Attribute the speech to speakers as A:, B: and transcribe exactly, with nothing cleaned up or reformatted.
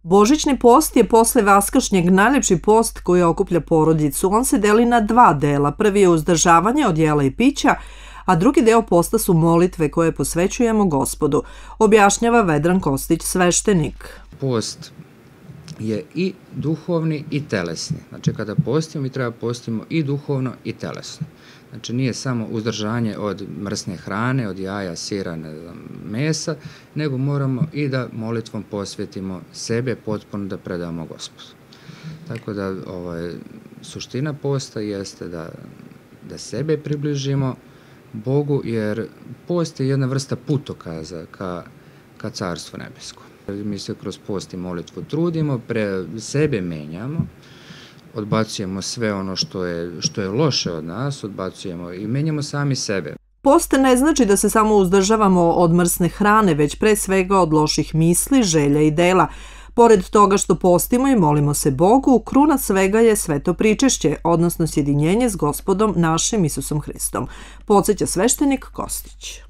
A: Božićni post je posle vaskršnjeg najlepši post koji okuplja porodicu. On se deli na dva dela. Prvi je uzdržavanje od jela i pića, a drugi deo posta su molitve koje posvećujemo Gospodu, objašnjava Vedran Kostić, sveštenik.
B: Post je i duhovni i telesni. Znači, kada postimo, mi treba postimo i duhovno i telesno. Znači, nije samo uzdržanje od mrsne hrane, od jaja, sira, ne znam, mesa, nego moramo i da molitvom posvetimo sebe potpuno da predamo Gospodu. Tako da ovaj, suština posta jeste da, da sebe približimo Bogu, jer post je jedna vrsta putokaza ka, ka Carstvu nebesko. Mi se kroz post i molitvu trudimo, pre sebe menjamo, odbacujemo sve ono što je, što je loše od nas, odbacujemo i menjamo sami sebe.
A: Post ne znači da se samo uzdržavamo od mrsne hrane, već pre svega od loših misli, želja i dela. Pored toga što postimo i molimo se Bogu, kruna svega je sveto pričešće, odnosno sjedinjenje s Gospodom našim Isusom Hristom, podsjeća sveštenik Kostić.